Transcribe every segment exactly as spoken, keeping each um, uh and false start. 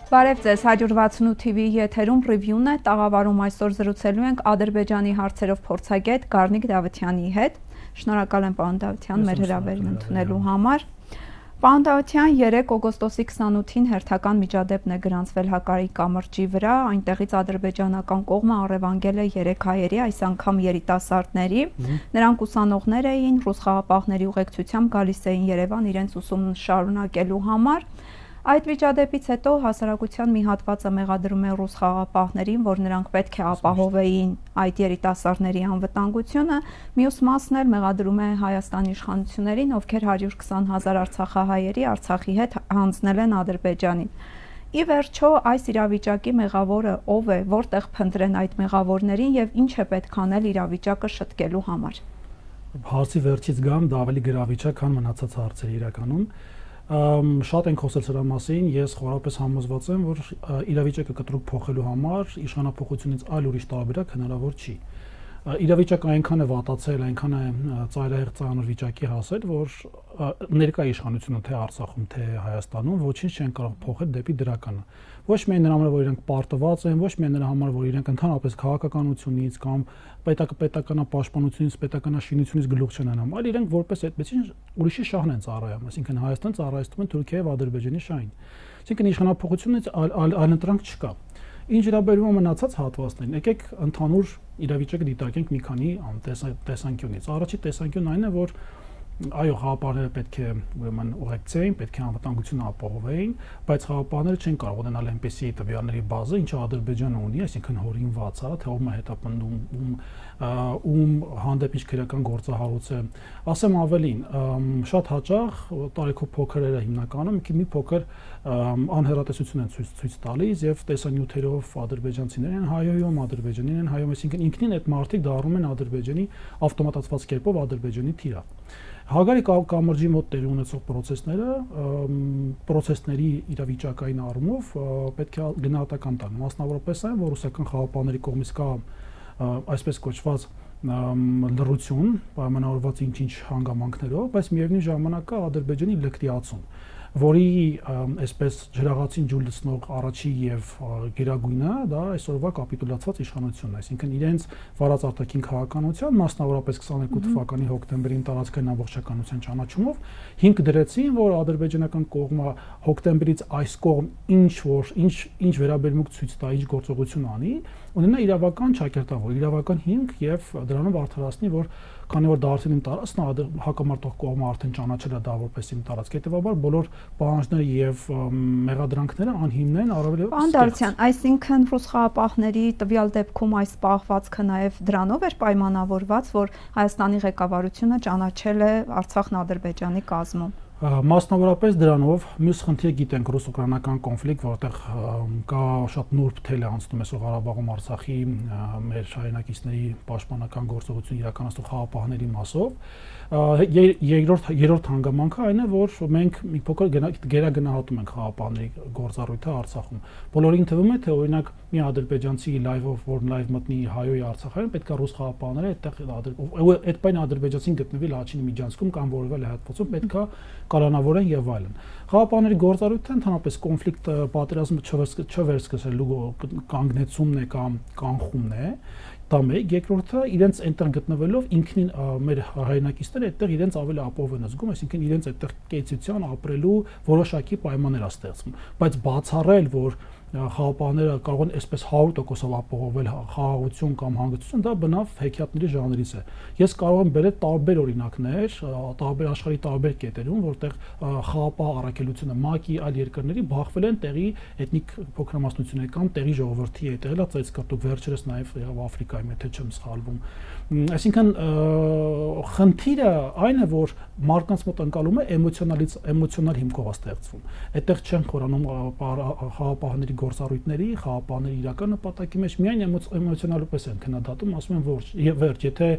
Բարև ձեզ, հաջորդ վաթսունութ թիվի եթերում ռիվյուն է, տաղավարում այսօր զրուցելու ենք Ադրբեջանի հարցերով փորձագետ Գառնիկ Դավթյանի հետ։ Շնորհակալ եմ պարոն Դավթյան մեր հրավերն ընդունելու համար։ Պարոն Դավթյան, երեկ օգոստոսի քսանութին հերթական միջադեպն է գրանցվել Հակարի կամրջի վրա, այնտեղից ադրբեջանական կողմը առևանգել է երեք հայերի, այս անգամ երիտասարդների, նրանք ուսանողներ էին, ռուս խաղապահների ուղեկցությամբ գալիս էին Երևան իրենց ուսումն շարունակելու համար։ Այդ միջադեպից հետո հասարակության մի հատվածը մեղադրում է ռուս խաղապահներին, որ նրանք պետք է ապահովեին այդ երիտասարդների անվտանգությունը, մյուս մասն էլ մեղադրում է Հայաստանի իշխանություններին, ովքեր հարյուր քսան հազար արցախահայերի Արցախի հետ հանձնել են Ադրբեջանին։ Ի վերջո այս իրավիճակի մեղավորը ով է, որտեղ փնտրեն այդ մեղավորներին եւ ինչ է պետք անել իրավիճակը շտկելու համար։ Հարցի վերջից գամ, դա ավելի գրավիճակ, քան մնացած հարցերը իրականում։ Շատ ենք խոսել սրա մասին, ես խորապես համոզված եմ, որ իրավիճակը կտրուկ փոխելու համար իշխանապողությունից այլ ուրիշ տարբերակ հնարավոր չի։ Իրավիճակը այնքան է վատացել, այնքան է ծայրահեղ ծանր վիճակի հասել, որ ներկա իշխանությունը թե Արցախում, թե Հայաստանում ոչինչ չեն կարող փոխել դեպի դրականը։ Ոչ միայն նրա համար, որ իրենք պարտված են, ոչ միայն նրա համար, որ իրենք ընդհանրապես քաղաքականությունից կամ պետականապաշտպանությունից, պետականաշինությունից գլուխ չեն հանում, այլ իրենք որպես այդպեսին ուրիշի շահն են ծառայում, այսինքն Հայաստան ծառայեցնում են Թուրքիայի եւ Ադրբեջանի շահին։ Այսինքն իշխանապողությունից այլընտրանք չկա։ Ինչ վերաբերում է մնացած հատվածներին, եկեք ընդհանուր իրավիճակը դիտարկենք մի քանի տեսանկյունից։ Առաջի տեսանկյունն այն է, որ այո, խաղապահները պետք է ուրեմն ուղեկցեին, պետք է անվտանգությունը ապահովեին, բայց խաղապահները չեն կարող ունենալ այնպեսի տվյալների բազա, ինչը Ադրբեջանը ունի, այսինքն հորինված է, թե ում է հետապնդում, ում ում հանդեպ ինչ քրեական գործահարույց է։ Ասեմ ավելին, շատ հաճախ տարիքով փոքրերը հիմնականում մի փոքր անհեռատեսություն են ցույց ցույց տալիս եւ տեսանյութերով ադրբեջանցիներն են հայոյում, ադրբեջանին են հայոյում, այսինքն ինքնին այդ մարդիկ դառնում են Ադրբեջանի ավտոմատացված կերպով Ադրբեջանի թիրախ։ Հակարի կամրջի մոտ տեղ ունեցող process-ները, process-ների իրավիճակային առումով պետք է գնահատական տան։ Մասնավորապես այն, որ ռուսական խաղապահների կողմից կա այսպես կոչված լռություն, պայմանավորված ինչ-ինչ հանգամանքներով, բայց միևնույն ժամանակ կա Ադրբեջանի լկտիացում, որի այսպես ջրաղացին ջուր լցնող առաջի եւ գերագույնը դա այսօրվա կապիտուլացված իշխանությունն է, այսինքն իրենց վարած արտաքին քաղաքականության, մասնավորապես քսաներկու թվականի հոկտեմբերին տարածքային ամբողջականության ճանաչումով հիմք դրեցին, որ ադրբեջանական կողմը հոկտեմբերից այս կողմ ինչ որ ինչ ինչ վերաբերմունք ցույց տա, ինչ գործողություն անի, ունենա իրավական ճակերտավոր, իրավական հիմք եւ դրանով արդարացնի, որ քանի որ դարձել իմ տարածքն հակամարտող կողմը արդեն ճանաչել է դա որպես իմ տարածք, հետեւաբար բոլոր պահանջները եւ մեղադրանքները անհիմն են, առավել եւս։ Պարոն Դավթյան, այսինքն ռուս խաղապահների տվյալ դեպքում այս պահվածքը նաեւ դրանով էր պայմանավորված, որ Հայաստանի ղեկավարությունը ճանաչել է Արցախն Ադրբեջանի կազմում։ Մասնավորապես դրանով մյուս խնդիրը գիտենք ռուս-ուկրաինական կոնֆլիկտ, որտեղ կա շատ նուրբ թել է անցնում այսօր Ղարաբաղում Արցախի մեր հայրենակիցների պաշտպանական գործողություն իրականացնող խաղապահների մասով։ Երկրորդ երրորդ հանգամանքը այն է, որ մենք մի փոքր գերագնահատում ենք խաղապահների գործառույթը Արցախում։ Բոլորին թվում է, թե օրինակ մի ադրբեջանցի լայվով, որ լայվ մտնի հայոյի Արցախային, պետք է ռուս խաղապահները այդտեղ այդ բանը ադրբեջանցին գտնվի Լաչինի միջանցքում կամ որևէ հատվածում պետք է կալանավորեն եւ այլն։ Խաղապահների գործառույթը ընդհանրապես կոնֆլիկտ պատերազմը չվերսկսելու կանգնեցումն է կամ կանխումն է, դա մեկ, երկրորդը իրենց այնտեղ գտնվելով ինքնին մեր հայրենակիցները այդտեղ իրենց ավելի ապահով են զգում, այսինքն իրենց այդտեղ կեցության ապրելու որոշակի պայմաններ է ստեղծվում, բայց բացառել, որ խաղապահները կարող են այսպես հարյուր տոկոսով ապահովել խաղաղություն կամ հանգստություն, դա բնավ հեքիաթների ժանրից է։ Ես կարող եմ բերել տարբեր օրինակներ, տարբեր աշխարհի տարբեր կետերում, որտեղ խաղապահ առաքելությունը ՄԱԿ-ի այլ երկրների բախվել են տեղի էթնիկ փոքրամասնությունների կամ տեղի ժողովրդի հետ, եղել է ծայրկրտուկ վերջերս նաև Աֆրիկայում, եթե չեմ սխալվում։ Այսինքն խնդիրը այն է, որ մարդկանց մոտ ընկալումը էմոցիոնալից էմոցիոնալ հիմքով է ստեղծվում։ Այդտեղ չեն խորանում խաղապահների գործառույթների, խաղապահների իրական նպատակի մեջ միայն էմոցիոնալապես են քննադատում, ասում են որ վերջ, եթե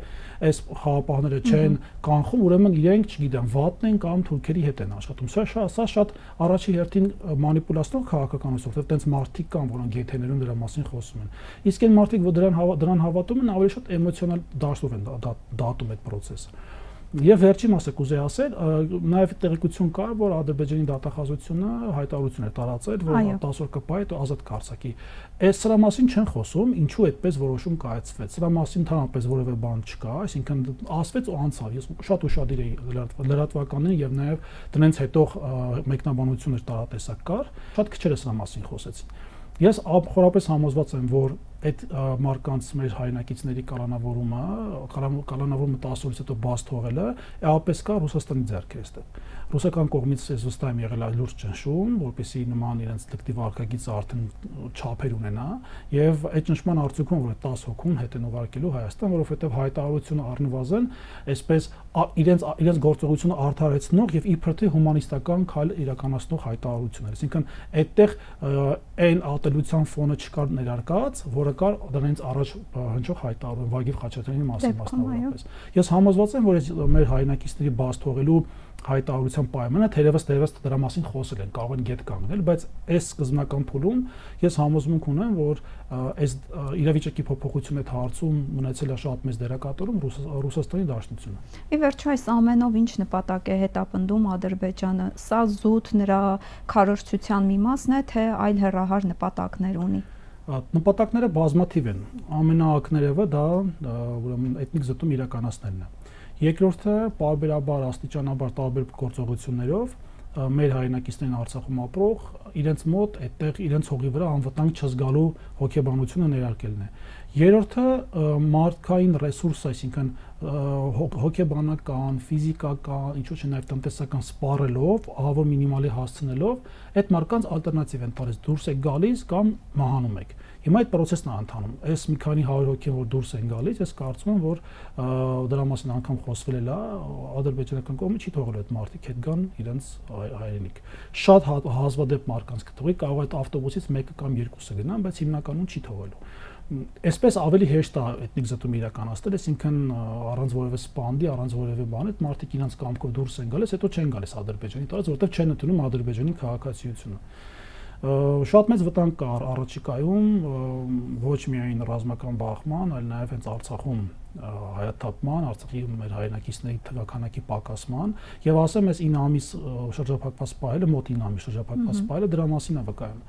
այս խաղապահները չեն կանխում, ուրեմն իրենք, չգիտեմ, վատն են կամ թուրքերի հետ են աշխատում։ Սա սա շատ առաջի հերթին մանիպուլացնող քաղաքականություն, որտեղ տենց մարդիկ կան, որոնք եթերներում դրա մասին խոսում են։ Իսկ այն մարդիկ, որ դրան դրան հավատում են, ավելի շատ էմոցիոնալ դաշտով են դատում այդ process-ը։ Եվ վերջի մասը կուզեի ասել, նաև տեղեկություն կար, որ Ադրբեջանի դատախազությունը հայտարարություն էր տարածել, որ տասը օր կպահի հետո ազատ կարձակի։ Այս սրա մասին չեն խոսում, ինչու այդպես որոշում կայացվեց։ Սրա մասին ընդհանրապես որևէ բան չկա, այսինքն ասվեց ու անցավ։ Ես շատ ուշադիր էի լրատվականներին եւ նաև դրանից հետո մեկնաբանություններ տարատեսակ կար, շատ քչերը սրա մասին խոսեցին։ Ես խորապես համոզված եմ, որ այդ մարկանց մեր հայրենակիցների կալանավորումը, կալանավորումը տասը օրից հետո բաց թողելը, էապես կա Ռուսաստանի ձեռքեր այստեղ։ Ռուսական կողմից ես վստահ եմ եղել լուրջ ճնշում, որպեսզի նման իրենց դեկտիվ արկագիծը արդեն չափեր ունենա, եւ այդ ճնշման արդյունքում որ տասը հոգուն հետ են ուղարկելու Հայաստան, որովհետեւ հայտարարությունը առնվազն այսպես իրենց իրենց գործողությունը արդարացնող եւ իբր թե հումանիստական քայլ իրականացնող հայտարարություն էր։ Այսինքն այդտեղ այն ատելության ֆոնը չկար ներարկած, որը կար դրանից առաջ հնչող հայտարարում Վագիվ Խաչատրյանի մասին մասնավորապես։ Ես համոզված եմ, որ մեր հայրենակիցների բաց թողելու հայտարարության պայմանը թերևս թերևս դրա մասին խոսել են, կարող են գետ կանգնել, բայց այս սկզբնական փուլում ես համոզմունք ունեմ, որ այս իրավիճակի փոփոխությունը այդ հարցում ունեցել է շատ մեծ դերակատարում Ռուսաստանի Դաշնությունը։ Ի վերջո այս ամենով ինչ նպատակ է հետապնդում Ադրբեջանը։ Սա զուտ նրա քարոզչության մի մասն է, թե այլ հեռահար նպատակներ ունի։ Նպատակները բազմաթիվ են։ Ամենաակներևը դա ուրեմն էթնիկ զտում իրականացնելն է։ Երկրորդը պարբերաբար աստիճանաբար տարբեր գործողություններով մեր հայրենակիցներին Արցախում ապրող իրենց մոտ այդտեղ իրենց հողի վրա անվտանգ չզգալու հոգեբանությունը ներարկելն է։ Երրորդը մարդկային ռեսուրս, այսինքն հոգեբանական, ֆիզիկական, ինչու՞ չէ նաև տնտեսական սպառելով, ահավոր մինիմալի հասցնելով, այդ մարդկանց ալտերնատիվ են տալիս, դուրս է գալիս կամ մահանում եք։ Հիմա այդ process-ն է ընթանում։ Այս մի քանի հարյուր հոգի որ դուրս են գալիս, ես կարծում եմ, որ դրա մասին անգամ խոսվել է, ադրբեջանական կողմը չի թողել այդ մարդիկ հետ գան իրենց հայրենիք։ Շատ հազվադեպ մարդկանց կթողի, կարող է այդ ավտոբուսից մեկը կամ երկուսը գնան, բայց հիմնականում չի թողելու։ Այսպես ավելի հեշտ է էթնիկ զտում իրականացնել, այսինքն առանց որևէ սպանդի, առանց որևէ բանի, այդ մարդիկ իրենց կամքով դուրս են գալիս, հետո չեն գալիս Ադրբեջանի տարած, որովհետև չեն ընդունում Ադրբեջանի քաղաքացիությունը։ Շատ մեծ վտանգ կար առաջիկայում ոչ միայն ռազմական բախման, այլ նաև հենց Արցախում հայաթափման, Արցախի մեր հայրենակիցների թվականակի պակասման եւ ասեմ այս ինը ամիս շրջափակված սպայելը, մոտ ինը ամիս շրջափակված սպայելը դրա մասին է վկայում։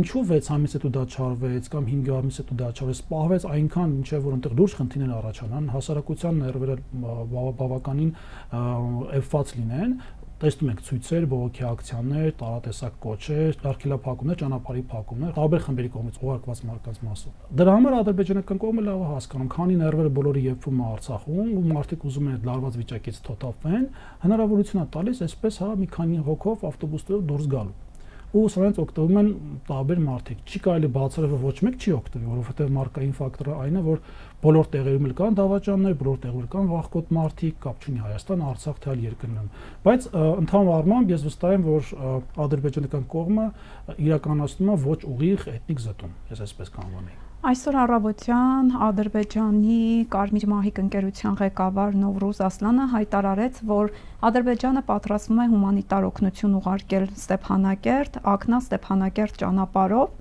Ինչու վեց ամիս հետո դա չարվեց կամ հինգ ամիս հետո դա չարվեց, սպահվեց այնքան, ինչեւ որ այնտեղ լուրջ խնդիրներ առաջանան, հասարակության ներվերը բավականին էվված լինեն։ Տեսնում ենք ցույցեր, բողոքի ակցիաներ, տարատեսակ կոչեր, արգելափակումներ, ճանապարհի փակումներ, տարբեր խմբերի կողմից ուղարկված մարդկանց մասով։ Դրա համար ադրբեջանական կողմը լավ է հասկանում, քանի ներվերը բոլորի եփվում է Արցախում, ու մարդիկ ուզում են այդ լարված վիճակից թոթափվեն, հնարավորություն է տալիս այսպես հա մի քանի հոգով ավտոբուսներով դուրս գալու։ Ու սրանից օգտվում են տարբեր մարդիկ։ Չի կարելի բացառել, որ ոչ մեկ չի օգտվի, որովհետև մարկային ֆակտորը այն է, որ բոլոր տեղերում էլ կան դավաճաններ, բոլոր տեղերում կան վախկոտ մարդիկ, կապ չունի Հայաստան, Արցախ, թե այլ երկրներում։ Բայց ընդհանուր առմամբ ես վստահ եմ, որ ադրբեջանական կողմը իրականացնում է ոչ ուղիղ էթնիկ զտում, ես այսպես կանոնեի։ Այսօր առավոտյան Ադրբեջանի Կարմիր մահիկ ընկերության ղեկավար Նովրուզ Ասլանը հայտարարեց, որ Ադրբեջանը պատրաստվում է հումանիտար օգնություն ուղարկել Ստեփանակերտ, Ակնա-Ստեփանակերտ ճանապարհով։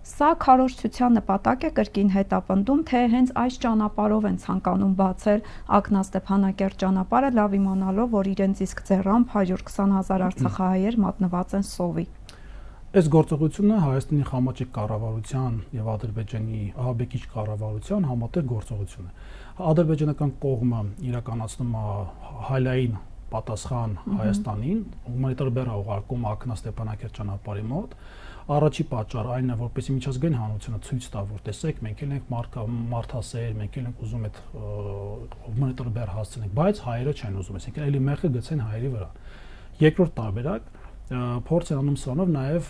Սա քարոզչության նպատակ է կրկին հետապնդում, թե հենց այս ճանապարհով են ցանկանում բացել Ակնա-Ստեփանակերտ ճանապարհը, լավ իմանալով, որ իրենց իսկ ձեռամբ հարյուր քսան հազար արցախահայեր մատնված են սովի։ Այս գործողությունը Հայաստանի խամաճիկ կառավարության եւ Ադրբեջանի ահաբեկիչ կառավարության համատեղ գործողություն է։ Ադրբեջանական կողմը իրականացնում է հալային պատասխան Հայաստանին, հումանիտար բեռ ուղարկում Ակնա-Ստեփանակերտ ճանապարհի մոտ։ Առաջի պատճառը այն է, որպեսզի միջազգային հանրությունը ցույց տա, որ տեսեք, մենք էլ ենք մարդասեր, մենք էլ ենք ուզում այդ հումանիտար բեռ հասցնենք, բայց հայերը չեն ուզում, այսինքն էլի մեղքը գցեն հայերի վրա։ Երկրորդ տարբերակ փորձ են անում սրանով նաև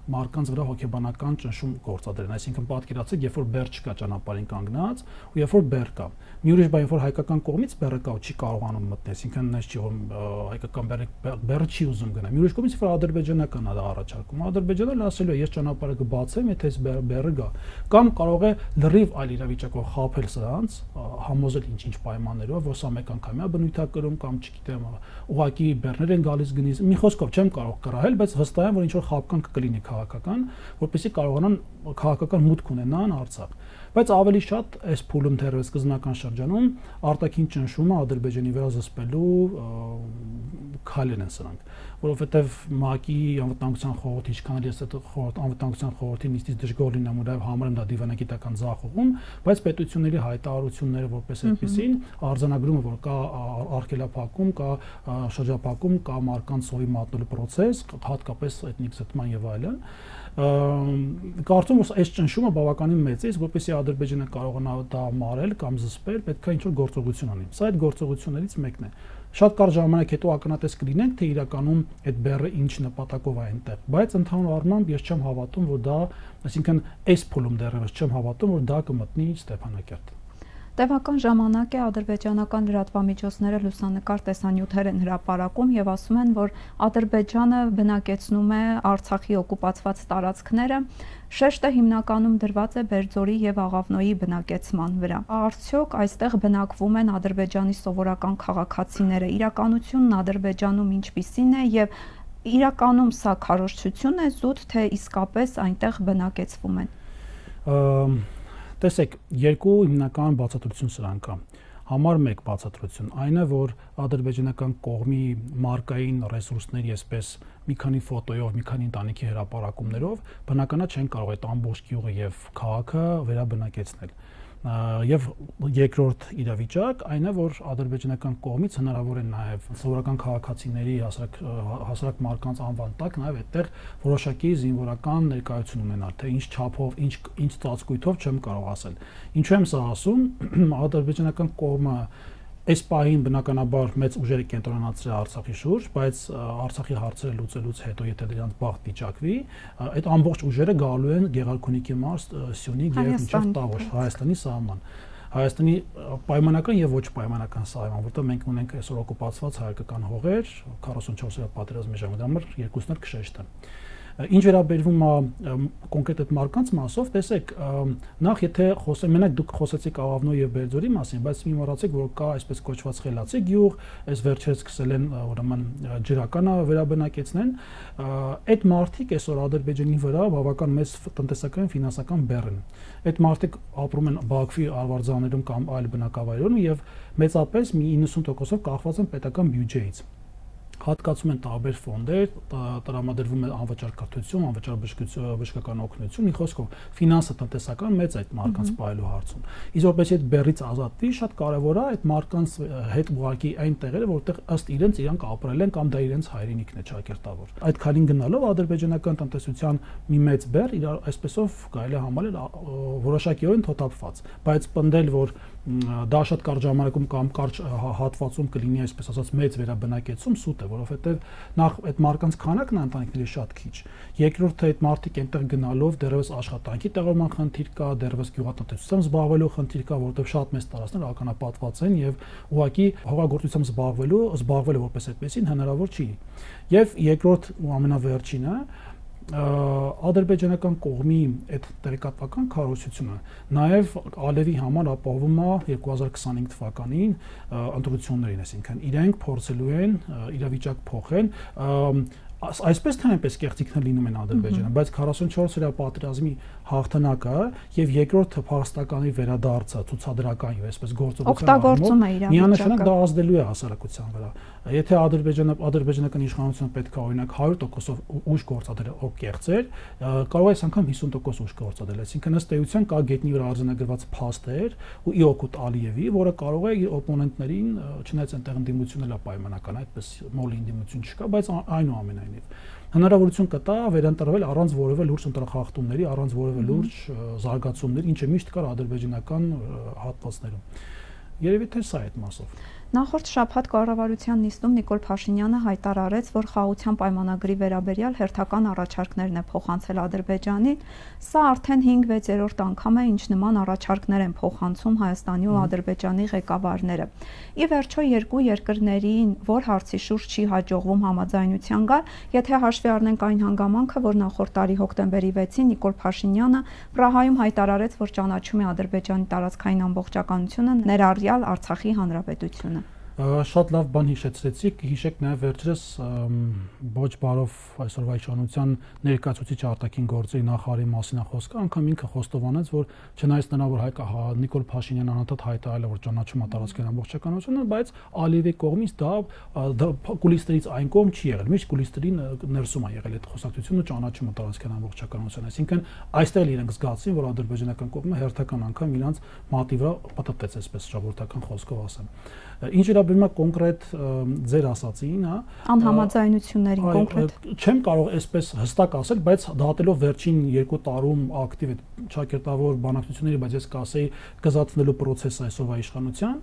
մարդկանց վրա հոգեբանական ճնշում գործադրեն, այսինքն պատկերացրեք, երբ որ բեռ չկա ճանապարհին կանգնած, ու երբ որ բեռ կա։ Մի ուրիշ բան, երբ որ հայկական կողմից բեռը կա ու չի կարողանում մտնել, այսինքն նես չի, որ հայկական բեռը չի ուզում գնալ։ Մի ուրիշ կողմից, որ ադրբեջանական է դա առաջարկում, Ադրբեջանը ասելու է, ես ճանապարհը կբացեմ, եթե այս բեռը գա, կամ կարող է լրիվ այլ իրավիճակով խաբել սրանց, համոզել ինչ-ինչ պայմաններով, որ սա մեկ անգամյա բնույթ է կրում կամ չգիտեմ, ուղակի բեռներ են գալիս գնից։ Մի խոսքով չեմ կարող կռահել, բայց վստահ եմ, որ ինչ որ խաբկան կլինի քաղաքական, որպեսզի կարողանան քաղաքական մուտք ունենան Արցախ։ Բայց ավելի շատ այս փուլում դեռևս սկզբնական շրջանում արտաքին ճնշումը Ադրբեջանի վրա զսպելու քայլեր են սրանք, որովհետև ՄԱԿ-ի անվտանգության խորհրդի ինչքան էլ ես այդ խորհրդ անվտանգության խորհրդի նիստից դժգոհ լինեմ ու նաև համարեմ դա դիվանագիտական ձախողում, բայց պետությունների հայտարարությունները որպես այդպեսին արձանագրումը, որ կա արգելափակում, կա շրջափակում, կա մարկանց սովի մատնելու process, հատկապես էթնիկ զտման եւ այլն, կարծում որ այս ճնշումը բավականին մեծ է, որպեսզի Ադրբեջանը կարողանա դա մարել կամ զսպել, պետք է ինչ-որ գործողություն անի։ Սա այդ գործողություններից մեկն է։ Շատ կարճ ժամանակ հետո ակնատես կլինենք, թե իրականում այդ բեռը ինչ նպատակով է այնտեղ, բայց ընդհանուր առմամբ ես չեմ հավատում, որ դա, այսինքն այս փուլում դեռևս չեմ հավատում, որ դա կմտնի Ստեփանակերտ։ Տևական ժամանակ է ադրբեջանական լրատվամիջոցները լուսանկար տեսանյութեր են հրապարակում եւ ասում են, որ Ադրբեջանը բնակեցնում է Արցախի օկուպացված տարածքները, շեշտը հիմնականում դրված է Բերձորի եւ Աղավնոյի բնակեցման վրա։ Արդյոք այստեղ բնակվում են Ադրբեջանի սովորական քաղաքացիները, իրականությունն Ադրբեջանում ինչպիսին է եւ իրականում սա քարոզչություն է զուտ, թե իսկապես այնտեղ բնակեցվում են։ Տեսեք, երկու հիմնական բացատրություն սրանք կա։ Համար մեկ բացատրություն այն է, որ ադրբեջանական կողմի մարկային ռեսուրսների, այսպես մի քանի ֆոտոյով, մի քանի ընտանիքի հրապարակումներով բնականա չեն կարող այդ ամբողջ գյուղը եւ քաղաքը վերաբնակեցնել։ Եվ երկրորդ իրավիճակ այն է, որ ադրբեջանական կողմից հնարավոր է նաև սովորական քաղաքացիների հասարակ հասարակ մարկանց անվան տակ նաև այդտեղ որոշակի զինվորական ներկայություն ունենալ, թե ինչ չափով, ինչ ինչ ծածկույթով չեմ կարող ասել։ Ինչու եմ սա ասում, ադրբեջանական կողմը այս պահին բնականաբար մեծ ուժերը կենտրոնացրել Արցախի շուրջ, բայց Արցախի հարցերը լուծելուց հետո, եթե դրանց բախտ վիճակվի, այդ ամբողջ ուժերը գալու են Գեղարքունիքի մարզ, Սյունիք եւ մինչեւ Տավուշ, Հայաստանի սահման։ Հայաստանի պայմանական եւ ոչ պայմանական սահման, որտեղ մենք ունենք այսօր օկուպացված հայկական հողեր, քառասունչորս պատերազմի ժամանակ, դա մեր երկուսն էլ քշեշտ են։ Ինչ վերաբերվում է կոնկրետ այդ մարկանց մասով, տեսեք, նախ եթե խոսեմ, մենակ դուք խոսեցիք Աղավնոյի եւ Բերձորի մասին, բայց մի մոռացեք, որ կա այսպես կոչված խելացի գյուղ, այս վերջերս սկսել են ուրեմն ջրականը վերաբնակեցնեն, այդ մարդիկ այսօր Ադրբեջանի վրա բավական մեծ տնտեսական ֆինանսական բեռ են։ Այդ մարդիկ ապրում են Բաքվի արվարձաններում կամ այլ բնակավայրերում եւ մեծապես մի իննսուն տոկոսով կախված են պետական բյուջեից։ Հատկացում են տարբեր ֆոնդեր, տրամադրվում է անվճար կրթություն, անվճար բժշկական օգնություն, մի խոսքով ֆինանսը տնտեսական մեծ այդ մարկանց պահելու հարցում։ Իսկ որպես այդ բեռից ազատվի, շատ կարևոր է այդ մարկանց հետ ուղղակի այն տեղերը, որտեղ ըստ իրենց իրանք ապրել են կամ դա իրենց հայրենիքն է ճակերտավոր։ Այդ քանին գնալով ադրբեջանական տնտեսության մի մեծ բեռ իրար այսպեսով կարելի է համարել որոշակիորեն թոթափված, բայց պնդել, որ դա շատ կարճ ժամանակում կամ կարճ հատվածում կլինի այսպես ասած մեծ վերաբնակեցում սուտ է, որովհետև նախ այդ մարկանց քանակն ընտանիքների շատ քիչ։ Երկրորդը այդ մարդիկ այնտեղ գնալով դեռևս աշխատանքի տեղավորման խնդիր կա, դեռևս գյուղատնտեսությամբ զբաղվելու խնդիր կա, որովհետև շատ մեծ տարածքներ ականապատված են եւ ուղղակի հողագործությամբ զբաղվելու զբաղվելը որպես այդպեսին հնարավոր չի։ Եվ երկրորդ ու ամենավերջինը ադրբեջանական կողմի այդ տեղեկատվական քարոզությունը նաև Ալևի համար ապահովում է երկու հազար քսանհինգ թվականին ընտրություններին, այսինքն իրենք փորձելու են իրավիճակ փոխել, այսպես թե այնպես կեղծիքներ լինում են Ադրբեջանում, բայց քառասունչորս օրյա պատերազմի հաղթանակը եւ երկրորդ փախստականի վերադարձը ցուցադրական եւ այսպես գործողության միանշանակ դա ազդելու է հասարակության վրա։ Եթե Ադրբեջանը ադրբեջանական իշխանությունը պետք է օրինակ հարյուր տոկոսով ուժ գործադրել ով կեղծեր, կարող է այս անգամ հիսուն տոկոս ուժ գործադրել, այսինքն ըստ էության կա գետնի վրա արձանագրված փաստեր ու Իոկուտ Ալիևի, որը կարող է իր օպոնենտներին, չնայած այնտեղ ընդդիմությունն է պայմանական, այդպես մոլի ընդդիմություն չկա, բայց այնուամենայնիվ հնարավորություն կտա վերընտրվել առանց որևէ լուրջ ընտրախախտումների, առանց որևէ լուրջ զարգացումների, ինչը միշտ կար ադրբեջանական հատվածներում։ Երևի թե սա այդ մասով։ Նախորդ շաբաթ կառավարության նիստում Նիկոլ Փաշինյանը հայտարարեց, որ խաղաղության պայմանագրի վերաբերյալ հերթական առաջարկներն է փոխանցել Ադրբեջանին։ Սա արդեն հինգ-վեցերորդ անգամ է, ինչ նման առաջարկներ են փոխանցում Հայաստանի ու Ադրբեջանի ղեկավարները։ Ի վերջո երկու երկրներին որ հարցի շուրջ չի հաջողվում համաձայնության գալ, եթե հաշվի առնենք այն հանգամանքը, որ նախորդ տարի հոկտեմբերի վեցին Նիկոլ Փաշինյանը Պրահայում հայտարարեց, որ ճանաչում է Ադրբեջանի տարածքային ամբողջականությունը, ներառյալ Արցախի հանրապետությունը։ Շատ լավ բան հիշեցրեցիք, հիշեք նաև վերջերս ոչ բարով այսօրվա իշխանության ներկայացուցիչ արտաքին գործերի նախարարի մասին խոսքը, անգամ ինքը խոստովանեց, որ չնայած նրան, որ Հայկ Նիկոլ Փաշինյանն անընդհատ հայտարարել է, որ ճանաչում է տարածքային ամբողջականությունը, բայց Ալիևի կողմից դա կուլիսներից այն կողմ չի եղել, միշտ կուլիսների ներսում է եղել այդ խոսակցությունը ու ճանաչումը տարածքային ամբողջականության, այսինքն այստեղ իրենք զգացին, որ ադրբեջանական կողմը հերթական անգամ իրանց մատի վրա պատտեց, այսպես ժողովրդական խոսքով ասեմ։ Ինչ վերաբերում է կոնկրետ ձեր ասացին, հա, անհամաձայնություններին կոնկրետ չեմ կարող այսպես հստակ ասել, բայց դատելով վերջին երկու տարում ակտիվ այդ ճակերտավոր բանակցությունների, բայց ես կասեի կզածնելու process-ը այսօրվա իշխանության,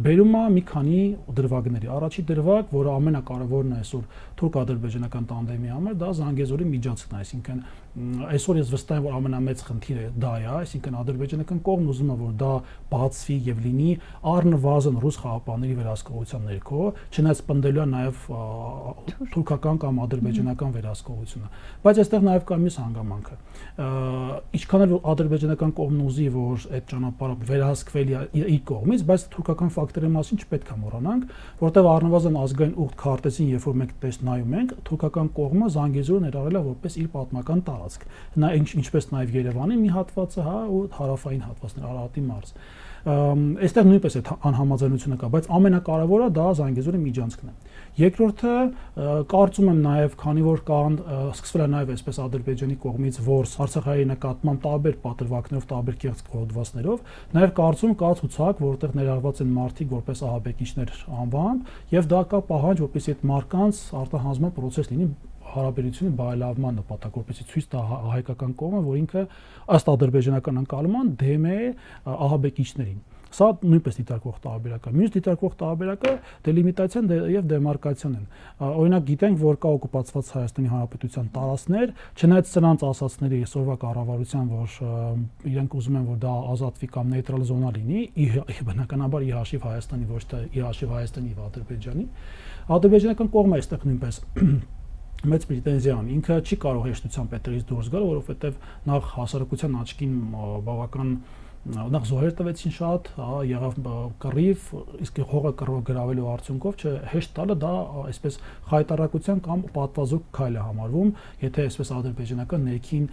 բերում է մի քանի դրվագների։ Առաջի դրվագ, որը ամենակարևորն է այսօր թուրք-ադրբեջանական տանդեմի համար, դա Զանգեզուրի միջանցքն է, այսինքն այսօր ես վստահ եմ, որ ամենամեծ խնդիրը դա է, այսինքն ադրբեջանական կողմն ուզում է, որ դա բացվի եւ լինի առնվազն ռուս խաղապանների վերահսկողության ներքո, չնայած պնդելու է նաեւ թուրքական կամ ադրբեջանական վերահսկողությունը։ Բայց այստեղ նաեւ կա մյուս հանգամանքը։ Ինչքան էլ ադրբեջանական կողմն ուզի, որ այդ ճանապարհը վերահսկվելի է իր կողմից, բայց թուրքական ֆակտորի մասին չպետք է մոռանանք, որտեղ առնվազն ազգային ուղտ քարտեզին, երբ որ մենք տեսնում նայում ենք, թուրքական կողմը Զանգեզուրը ներառել է որպես իր պատմական տարածք։ Նա ինչպես նաև Երևանի մի հատվածը, հա, ու հարավային հատվածներ, Արարատի մարզ։ Այստեղ նույնպես այդ անհամաձայնությունը կա, բայց ամենակարևորը դա Զանգեզուրի միջանցքն է։ Երկրորդը կարծում եմ նաև, քանի որ կան սկսվել է նաև այսպես Ադրբեջանի կողմից որս Արցախի նկատմամբ տարբեր պատրվակներով, տարբեր կեղծ խորհրդվածներով, նաև կարծում կա ցուցակ, որտեղ ներառված են մարդիկ որպես ահաբեկիչներ անվամբ, եւ դա կա պահանջ, որպեսզի այդ մարկանց արտահանձնման process լինի հարաբերությունի բարելավման նպատակ, որպեսզի ցույց տա հայկական կողմը, որ ինքը ըստ ադրբեջանական ընկալման դեմ է ահաբեկիչներին։ Սա նույնպես դիտարկվող տարբերակ է։ Մյուս դիտարկվող տարբերակը դելիմիտացիան եւ դեմարկացիան են։ Օրինակ գիտենք, որ կա օկուպացված Հայաստանի Հանրապետության տարածքներ, չնայած սրանց ասացների այսօրվա կառավարության, որ իրենք ուզում են, որ դա ազատվի կամ նեյտրալ զոնա լինի, բնականաբար ի հաշիվ Հայաստանի, ոչ թե ի հաշիվ Հայաստանի եւ Ադրբեջանի։ Ադրբեջանական կողմը այստեղ նույնպես մեծ պրետենզիա ունի, ինքը չի կարող հեշտությամբ այդտեղից դուրս գալ, որովհետև նախ հասարակության աչքին բավական նախ զոհեր տվեցին շատ, եղավ կռիվ, իսկ հողը գրավելու արդյունքով հեշտ տալը դա այսպես խայտարակության կամ պատվազուկ քայլ է համարվում, եթե այսպես ադրբեջանական ներքին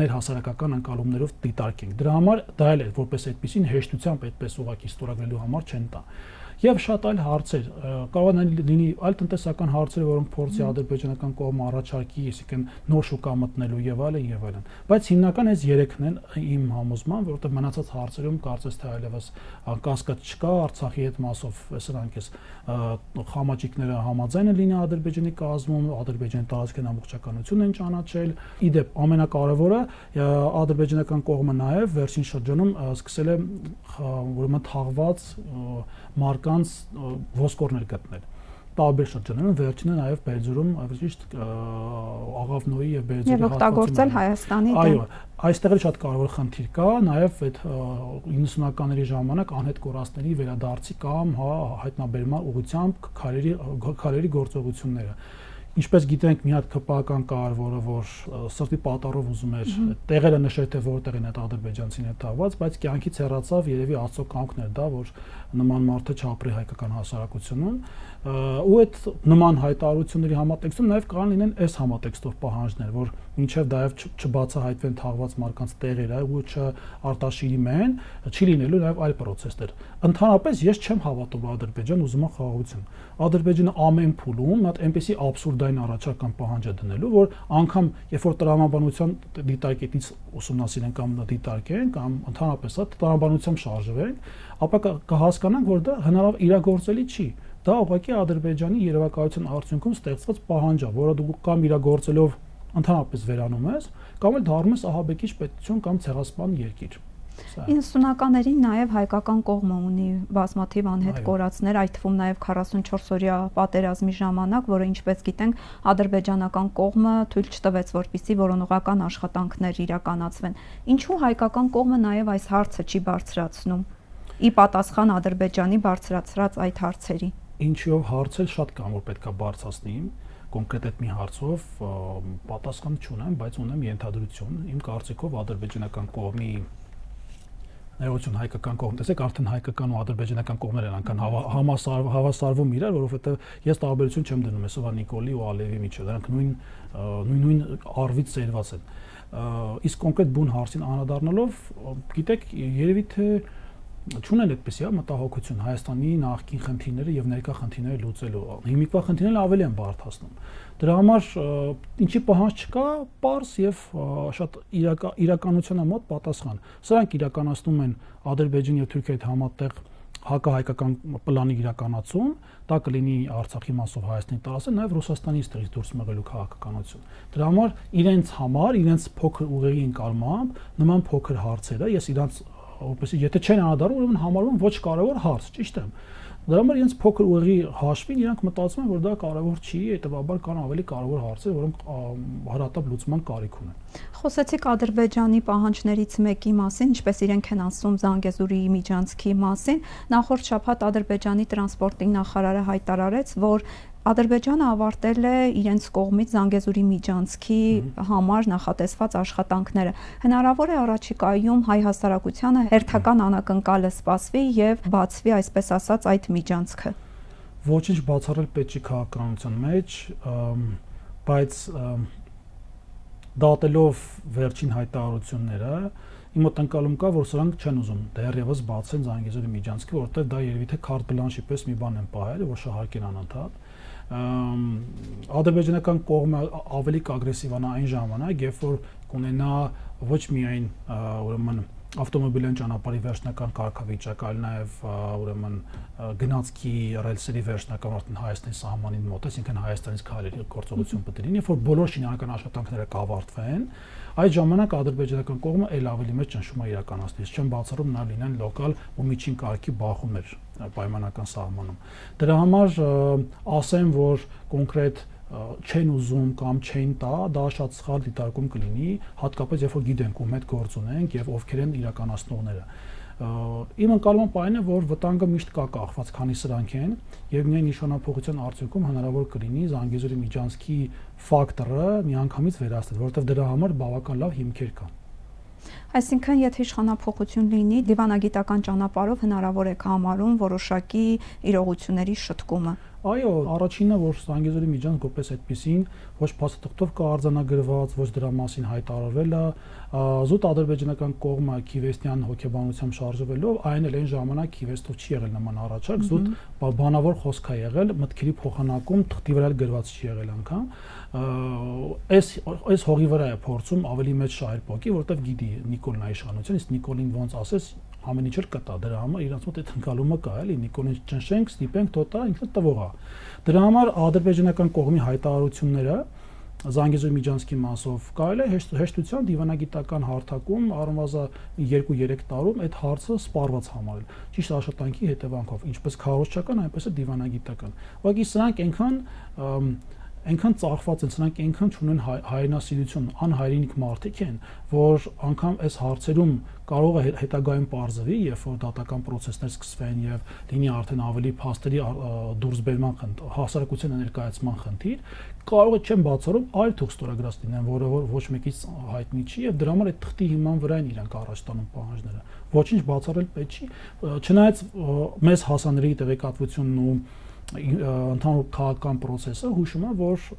ներհասարակական ընկալումներով դիտարկենք։ Դրա համար դա էլ է, որպես այդպեսին հեշտությամբ այդպես ուղղակի ստորագրելու համար չեն տա։ Եվ շատ այլ հարցեր, կարող է լինի այլ տնտեսական հարցեր, որոնք փորձի ադրբեջանական կողմը առաջարկի, այսինքն նոր շուկա մտնելու եւ այլն եւ այլն։ Բայց հիմնական այս երեքն են իմ համոզման, որովհետեւ մնացած հարցերում կարծես թե այլևս կասկած չկա, Արցախի հետ մասով սրանք էս խամաճիկները համաձայն են լինի Ադրբեջանի կազմում, Ադրբեջանի տարածքային ամբողջականությունն են ճանաչել։ Իդեպ ամենակարևորը ադրբեջանական կողմը նաեւ վերջին շրջանում սկսել է ուրեմն թաղված մարկանց ոսկորներ գտնել տարբեր շրջաններում, վերջինը նաև Բերձորում, ճիշտ Աղավնոյի եւ Բերձորի հատվածում օգտագործել Հայաստանի դեմ։ Այո, այստեղ էլ շատ կարևոր խնդիր կա, նաև այդ իննսունականների ժամանակ անհետ կորածների վերադարձի կամ հա հայտնաբերման ուղղությամբ քարերի քարերի գործողությունները։ Ինչպես գիտենք, մի հատ քպական կար, որը որ սրտի պատառով ուզում էր տեղերը նշել, թե որտեղ են այդ ադրբեջանցին հետ տաղված, բայց կյանքից հեռացավ երևի Աստծո կամքն էր դա, որ նման մարդը չապրի հայկական հասարակությունում, ու այդ նման հայտարարությունների համատեքստում նաև կարող լինեն այս համատեքստով պահանջներ, որ մինչև դայև չբացահայտվեն թաղված մարկանց տեղերը ու չարտաշիրիմեն, չի լինելու նաև այլ process-ներ։ Ընդհանրապես ես չեմ հավատում Ադրբեջան ուզում է խաղաղություն։ Ադրբեջանը ամեն փուլում այդ այնպեսի աբսուրդային առաջարկան պահանջ է դնելու, որ անգամ երբ որ տրամաբանության դիտարկետից ուսումնասիրեն կամ դիտարկեն կամ ընդհանրապես տրամաբանությամբ շարժվենք, ապա կհասկանանք, որ դա հնարավոր իրագործելի չի։ Դա ուղղակի Ադրբեջանի երևակայության արդյունքում ստեղծված պահանջ է, որը դու կամ իրագործելով ընդհանրապես վերանում ես, կամ էլ դառնում ես ահաբեկիչ պետություն կամ ցեղասպան երկիր։ իննսունականներին նաև հայկական կողմը ունի բազմաթիվ անհետ կորածներ, այդ թվում նաև քառասունչորս օրյա պատերազմի ժամանակ, որը ինչպես գիտենք, ադրբեջանական կողմը թույլ չտվեց, որպեսզի որոնողական աշխատանքներ իրականացվեն։ Ինչու հայկական կողմը նաև այս հարցը չի բարձրացնում ի պատասխան Ադրբեջանի բարձրացրած այդ հարցերի։ Ինչով հարցել շատ կան, որ պետքա բարձրացնի, կոնկրետ այդ մի հարցով պատասխան չունեմ, բայց ունեմ ենթադրություն։ Իմ կարծիքով ադրբեջանական կողմի ներողություն հայկական կողմ, տեսեք, արդեն հայկական ու ադրբեջանական կողմեր են անգամ հավասարվում իրար, որովհետև ես տարբերություն չեմ դնում այսօր Նիկոլի ու Ալիևի միջև, դրանք նույն նույն առվից ծերված են։ Իսկ կոնկրետ բուն հարցին անդրադառնալով, գիտեք, երևի թե չունեն այդպեսի մտահոգություն Հայաստանի նախկին խնդիրները եւ ներկա խնդիրները լուծելու։ Հիմիկվա խնդիրները ավելի են բարդացնում։ Դրա համար ինչի պահանջ չկա, պարզ եւ շատ իրականությանը մոտ պատասխան։ Սրանք իրականացնում են Ադրբեջանի եւ Թուրքիայի հետ համատեղ հակահայկական պլանի իրականացում, դա կլինի Արցախի մասով Հայաստանի տարածքը, նաեւ Ռուսաստանի ստեղից դուրս մղելու քաղաքականություն։ Դրա համար իրենց համար, իրենց փոքր ուղեղի ընկալմամբ նման փոքր հարցերը, ես իրանց որպեսզի եթե չեն անդառնում, ուրեմն համարվում ոչ կարևոր հարց, ճիշտ է։ Դրա համար իրենց փոքր ուղեղի հաշվին իրանք մտածում են, որ դա կարևոր չի, հետեւաբար կան ավելի կարևոր հարցեր, որոնք հարատապ լուծման կարիք ունեն։ Խոսեցիք Ադրբեջանի պահանջներից մեկի մասին, ինչպես իրենք են ասում Զանգեզուրի միջանցքի մասին։ Նախորդ շաբաթ Ադրբեջանի տրանսպորտի նախարարը հայտարարեց, որ Ադրբեջանը ավարտել է իրենց կողմից Զանգեզուրի միջանցքի համար նախատեսված աշխատանքները։ Հնարավոր է առաջիկայում հայ հասարակությանը հերթական անակնկալը սպասվի եւ բացվի, այսպես ասած, այդ միջանցքը։ Ոչինչ բացառել պետք չի քաղաքականության մեջ, բայց դատելով վերջին հայտարարությունները, իմ մոտ ընկալում կա, որ սրանք չեն ուզում դեռևս բացեն Զանգեզուրի միջանցքը, որովհետեւ դա երևի թե քարտ բլանշի պես մի բան են պահել, որ շահարկեն անընդհատ։ Ադրբեջանական կողմը ավելի կագրեսիվանա այն ժամանակ, երբ որ կունենա ոչ միայն ուրեմն ավտոմոբիլային ճանապարհի վերջնական կարգավիճակ, այլ նաև ուրեմն գնացքի ռելսերի վերջնական արդեն Հայաստանի սահմանին մոտ, այսինքն Հայաստանից քայլերի գործողություն պետք է լինի, երբ որ բոլոր շինարարական աշխատանքները կավարտվեն, այդ ժամանակ ադրբեջանական կողմը ել ավելի մեծ ճնշում է իրականացնի։ Չեմ բացառում նա լինեն լոկալ ու միջին կարգի բախումներ պայմանական սահմանում։ Դրա համար ասեմ, որ կոնկրետ չեն ուզում կամ չեն տա, դա շատ սխալ դիտարկում կլինի, հատկապես երբ որ գիտենք ում հետ գործ ունենք եւ ովքեր են իրականացնողները։ Իմ ընկալումը այն է, որ վտանգը միշտ կա կախված, քանի սրանք են եւ միայն նշանափոխության արդյունքում հնարավոր կլինի Զանգեզուրի միջանցքի ֆակտորը միանգամից վերացնել, որովհետեւ դրա համար բավական լավ հիմքեր կան։ Այսինքն, եթե իշխանափոխություն լինի, դիվանագիտական ճանապարհով հնարավոր է համարում որոշակի իրողությունների շտկումը։ Այո, առաջինը, որ Զանգեզուրի միջանցք որպես այդպեսին ոչ փաստաթղթով կա արձանագրված, ոչ դրա մասին հայտարարվել է, զուտ ադրբեջանական կողմը Քիվեստյան հոգեբանությամբ շարժվելով, այն էլ այն ժամանակ Քիվեստով չի եղել նման առաջարկ, զուտ բանավոր խոսք է եղել, մտքերի փոխանակում թղթի վրա գրված չի եղել անգամ։ Այս այս հողի վրա է փորձում ավելի մեծ շահեր փոկի, որովհետև գիտի Նիկոլն է իշխանություն, իսկ Նիկոլին ոնց ասես ամեն ինչ էլ կտա, դրա համար իրանց մոտ այդ ընկալումը կա, էլի Նիկոլին ճնշենք, ստիպենք, թոտա, ինքը տվող է։ Դրա համար ադրբեջանական կողմի հայտարարությունները Զանգեզուրի միջանցքի մասով կարելի է հեշտությամբ դիվանագիտական հարթակում առնվազն երկու երեք տարում այդ հարցը սպառված համարել։ Ճիշտ աշխատանքի հետևանքով, ինչպես քարոզչական, այնպես էլ դիվանագիտական։ Ուղղակի սրանք այնքան այնքան ծախված են, սրանք այնքան չունեն հայրենասիրություն, անհայրենիք մարդիկ են, որ անգամ այս հարցերում կարող է հետագայում պարզվի, երբ որ դատական process-ներ սկսվեն եւ լինի արդեն ավելի փաստերի դուրսբերման խնդիր, հասարակության ներկայացման խնդիր, կարող է չեմ բացառում այլ թուղթ ստորագրած լինեն, որը որ ոչ մեկից հայտնի չի եւ դրա համար այդ թղթի հիման վրա են իրանք առաջ տանում պահանջները։ Ոչինչ բացառել պետք չի, չնայած մեծ հասանելի տեղեկատվությունն ու ընդհանուր քաղաքական process-ը հուշում է, որ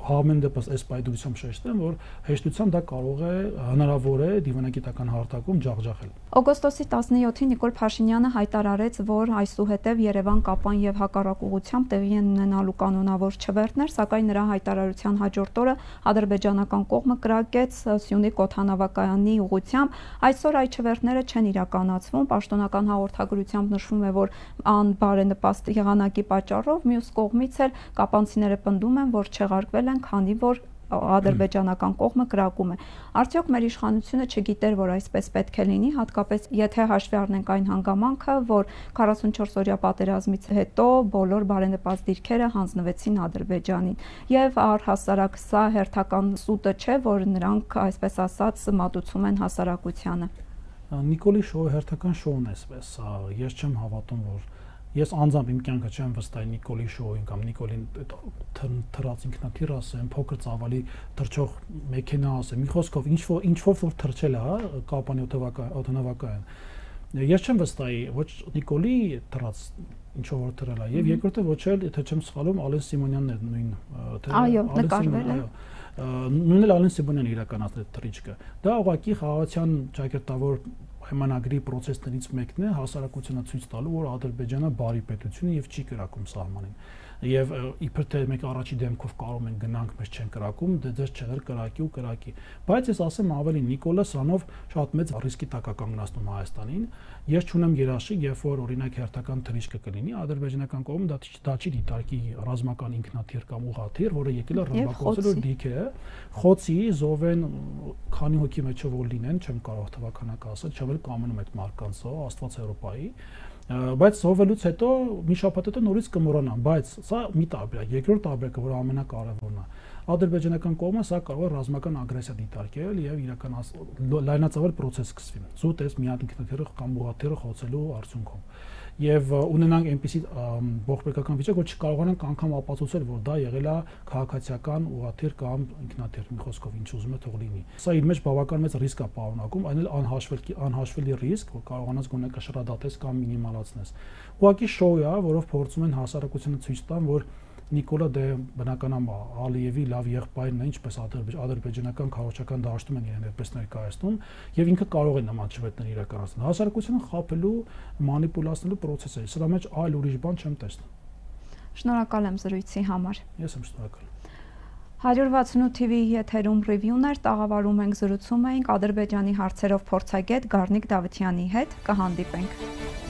համեն դեպս այս պայդրությամբ շեշտեմ, որ հեշտությամբ դա կարող է հնարավոր է դիվանագիտական հարթակում ջախջախել։ Օգոստոսի տասնյոթին Նիկոլ Փաշինյանը հայտարարեց, որ այսուհետև Երևան, Կապան եւ հակառակ ուղղությամբ տեղի են ունենալու կանոնավոր չվերթներ, սակայն նրա հայտարարության հաջորդ օրը ադրբեջանական կողմը կրակեց Սյունիք օդանավակայանի ուղղությամբ։ Այսօր այդ չվերթները չեն իրականացվում, պաշտոնական հաղորդագրությամբ նշվում է, որ անբարենպաստ եղանակի պատճառով մյուս կողմից էլ կապանցիները պնդում են, որ չեղարկվել են, քանի որ ադրբեջանական կողմը կրակում է։ Արդյոք մեր իշխանությունը չգիտեր, որ այսպես պետք է լինի, հատկապես եթե հաշվի առնենք այն հանգամանքը, որ քառասունչորս օրյա պատերազմից հետո բոլոր բարենպաստ դիրքերը հանձնվեցին Ադրբեջանին, եւ առհասարակ սա հերթական սուտը չէ, որ նրանք այսպես ասած մատուցում են հասարակությանը։ Նիկոլի շոու հերթական շոուն է այսպես, ես չեմ հավատում, որ Ես անձամբ իմ կյանքը չեմ վստահի Նիկոլի շոուին կամ Նիկոլին թռած ինքնաթիռ ասեմ, փոքր ծավալի թռչող մեքենա ասեմ, մի խոսքով ինչ որ ինչ որ թռչել է, հա, Կապանի օդանավակայան։ Ես չեմ վստահի ոչ Նիկոլի դրած ինչով որ դրել է եւ երկրորդը ոչ էլ եթե չեմ սխալվում Ալեն Սիմոնյանն է նույն թե այո նկարվել է նույնն էլ Ալեն Սիմոնյանը իրականացրել թռիչքը դա ուղղակի խաղաղության ճակերտավոր պայմանագրի process-ներից մեկն է հասարակությանը ցույց տալու որ Ադրբեջանը բարի պետություն է եւ չի կրակում սահմանին եւ իբր թե մենք առաջի դեմքով կարող ենք գնանք մեզ չեն կրակում դե ձեզ չեղեր կրակի ու կրակի բայց ես ասեմ ավելի Նիկոլը սրանով շատ մեծ ռիսկի տակ է կանգնացնում Հայաստանին ես չունեմ երաշխիք երբ որ օրինակ հերթական թռիչքը կլինի ադրբեջանական կողմը դա դա չի դիտարկի ռազմական ինքնաթիռ կամ ուղղաթիռ որը եկել է ռմբակոծելու դիք է խոցի զովեն քանի հոգի մեջով որ լինեն չեմ կարող թվականակ ասել չեմ էլ կամենում այդ մարկանցը Աստված Եվրոպայի բայց զովելուց հետո մի շաբաթ հետո նորից կմոռանան բայց սա մի տարբերակ երկրորդ տարբերակը որ ամենակարևորն է ադրբեջանական կողմը սա կարող է ռազմական ագրեսիա դիտարկել եւ իրականացնել լայնածավալ process սկսվի զուտ էս մի հատ ինքնաթիռը կամ ուղղաթիռը խոցելու արդյունքում եւ ունենանք այնպիսի ողբերգական վիճակ որ չկարողանանք անգամ ապացուցել որ դա եղել է քաղաքացիական ուղղաթիռ կամ ինքնաթիռ մի խոսքով ինչ ուզում է թող լինի սա իր մեջ բավական մեծ ռիսկ է պարունակում այն էլ անհաշվելի անհաշվելի ռիսկ որ կարողանաս գոնե կշռադատես կամ մինիմալացնես ուղղակի շոու է որով փորձում են հասարակությանը ցույց տան որ Նիկոլը դե բնականաբար Ալիևի լավ եղբայրն է ինչպես ադրբեջանական քաղաքական դաշտում են իրեն այդպես ներկայացնում եւ ինքը կարող է նման շվետներ իրականացնել հասարակությունը խաբելու մանիպուլացնելու process է սրա մեջ այլ ուրիշ բան չեմ տեսնում Շնորհակալ եմ զրույցի համար Ես եմ շնորհակալ one sixty-eight T V-ի եթերում ռիվյուներ տաղավարում ենք զրուցում էինք Ադրբեջանի հարցերով փորձագետ Գառնիկ Դավթյանի հետ կհանդիպենք